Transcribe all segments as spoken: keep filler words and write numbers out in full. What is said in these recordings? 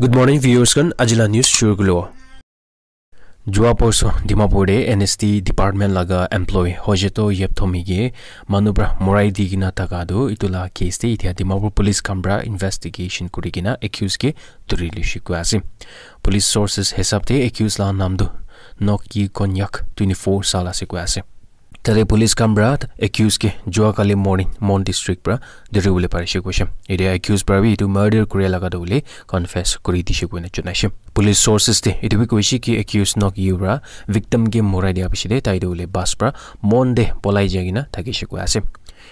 Good morning, viewers khan. Ajila news shuru kulo. Jua porso Dimapur de N S T department laga employee Hojeto Yepthomi ke manu pra morai di kena thaka tu itu la case de itia Dimapur police khan pra investigation kuri kena accused ke duri lishi koi ase. Police sources hisab de accused la nam tu Noki Konyak, twenty-four sal ase koi ase. Tade police khan pra accused ke jua kali morning Mon district pra duri bole parishe koishe. Itia accused pra bi itu murder kuri laga tu bole confess kuri dishe koina janaishe. Police sources de itu bi koishe ki accused Nok Yu pra victim ke morai dia piche de tai tu bole bus pra Mon de polai jai kena thakishe koi ase.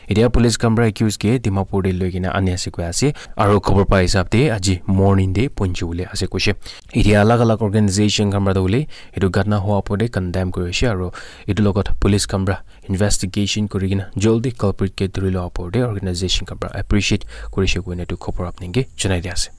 Itia police khan pra accused ke Dimapur de loi kena ani ase koi ase. Aro khobor pa hisab de aji morning de punchi bole ase koishe. Itia alag alag organization khan pra tu bole itu ghatna hoa opor de condemn kuri ase aro itu logot police khan pra investigation kuri kena joldi culprit ke duri lo opor de organization khan pra appreciate kuri she koina itu khobor apni ke janai di ase.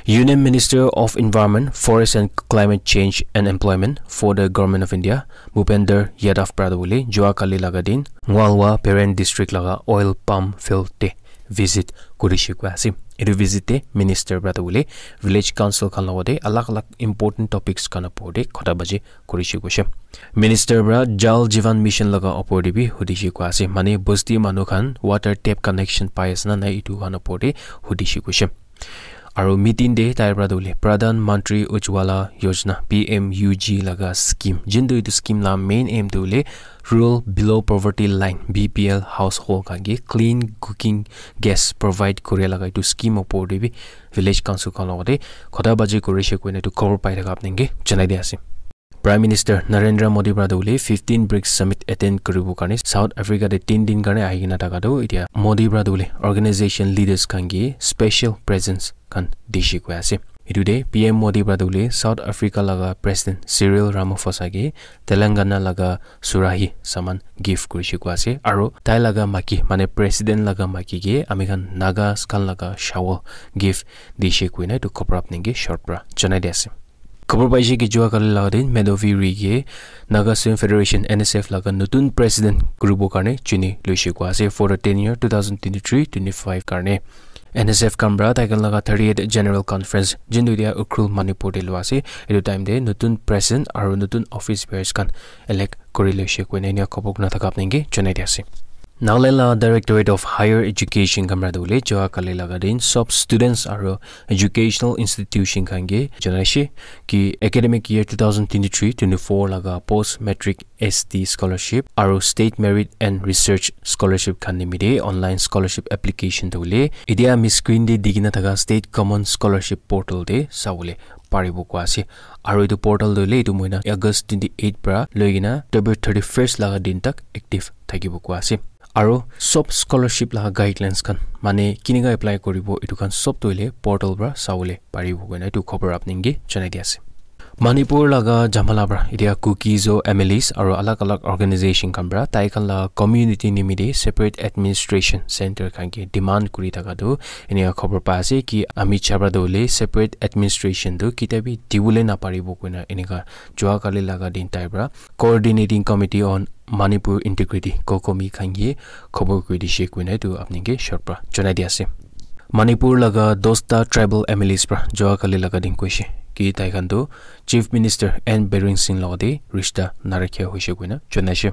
Union Minister of Environment, Forest and Climate Change and Employment for the Government of India, Bhupender Yadav pra tu bole jua kali laga din Ngalwa Peren District laga oil palm field de visit kuri she koi ase. Itu visit de minister pra tu bole village council khan logot de alag alag important topics khan opor de khota baji kuri she koishe. Minister pra Jal Jeevan Mission laga opor de bi hudi she koi ase. Mane bosti manu khan water tap connection pai ase na nai itu khan opor de hudi she koishe. Aro meeting de tai pra tu bole Pradhan Mantri Ujjwala Yojana, P M U G laga scheme. Jintu itu scheme la main aim tu bole rural below poverty line, B P L household khan ke clean cooking gas provide kuri laga itu scheme opor de bi village council khan logot de khota baji kuri she koina itu khobor pai thaka apni ke janai di ase. Prime Minister Narendra Modi pra tu bole fifteen brics Summit attend kuribo karne South Africa de tin din karne ahi kena thaka tu itia Modi pra tu bole organization leaders khan ke special presents khan dishi koi ase. Itu de P M Modi pra tu bole South Africa laga President Cyril Ramaphosa ke Telangana laga surahi saman gift kuri she koi ase. Aro tai laga maki, mane President laga maki ke ami khan Nagas khan laga shawl gift dishi koina itu khobor apni ke short pra janai di ase. Khobor paishe ki jua kali laga din Medovi Ri ke Naga Student Federation, N S F laga nutun president kuribo karne chuni loishe koi ase for the tenure two thousand twenty-three twenty-five karne. N S F khan pra tai khan laga thirty-eight General Conference jintu dia Ukhrul Manipur de lo ase. Itu time de nutun president aro nutun office bearers khan elect kuri loishe koina inia khobor kuna thaka apni ke janai di ase. Nagaland la Directorate of Higher Education khan pra tu bole jua kali laga din sob students aro educational institution khan ke janaishe ki academic year two thousand twenty-three twenty-four laga post matric S T scholarship aro state merit and research scholarship khan nimite online scholarship application tu bole itia ami screen de di kena thaka state common scholarship portal de sabole paribo koi ase. Aro itu portal tu bole itu moina August twenty-eight pra loi kena October thirty-first laga din tak active thakibo koi ase. Aro sob scholarship laga guidelines khan, mane kinika apply kuribo, itu khan sob tu hoile portal pra sabole paribo koina itu khobor apni ke janai di ase. Manipur laga jamala pra itia Kuki Zo M L As aro alag alag organization khan pra tai khan laga community nimite separate administration center khan ke demand kuri thaka tu inika khobor pa ase ki ami chabra tu hoile separate administration tu kitia bi dibole naparibo koina inika jua kali laga din tai pra Coordinating Committee on Manipur Integrity, COCOMI khan ke khobor kuri dishe koina itu apni ke short pra janai di ase. Manipur laga dosta tribal M L As pra jua kali laga din koishe ki tai khan tu Chief Minister N Biren Singh logote rishta narakhia hoishe koina janaishe.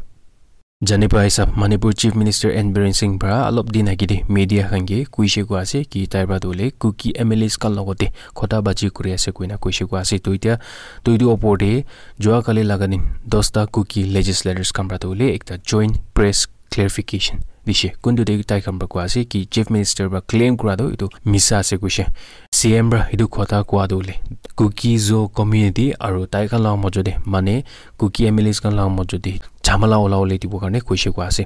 Jani pa hisab Manipur Chief Minister N Biren Singh pra alop din age te media khan ke koishe koi ase ki tai pra tu hoile Kuki M L As khan logote khota baji kuri ase koina koishe koi ase. To itya, to itu opor te jua kali laga din dosta Kuki legislators khan pra tu hoile ekta joint press clarification dishe. Kuntu te tai khan pra koi ase ki Chief Minister pra claim kura tu itu misa ase koishe. C M pra itu khota koa tu hoile Kuki Zo community aru tai khan laga mojo te mane Kuki M L As khan laga mojo te jhamala ola bole dibo karne koishe koi ase.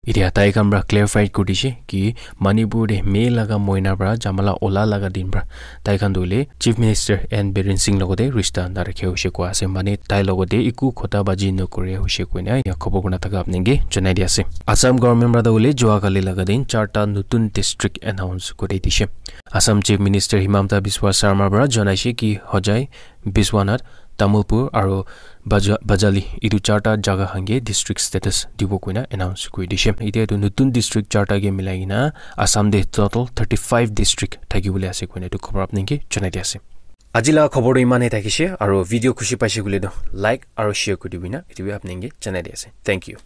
Itya tai khan pra clarify kuri dishe ki Manipur te May laga moina pra jhamala ola laga din pra tai khan tu hoile Chief Minister N Biren Singh logote rishta narakhe hoishe koi ase, mane tai logote eku khota baji nokore hoishe koina ya khobor kurna thaka apni ke janai di ase. Assam government pra tu hoile jua kali laga din charta nutun district announce kuri dishe. Assam Chief Minister Himanta Biswa Sarma pra janaishe ki Hojai, Biswanath, Tamulpur aru Baja-, Bajali, itu charta jaga khan ke district status dibo koina announce kuri dishe. Itya itu nutun district charta ke milai kena Assam te total thirty-five district thaki bole ase koina itu khobor apni ke janai di ase. Aji laga khobor tu iman he thakishe, aru video khushi paishe koile tu like aru share kuri dibi na, etu bi apni ke janai di ase. Thank you.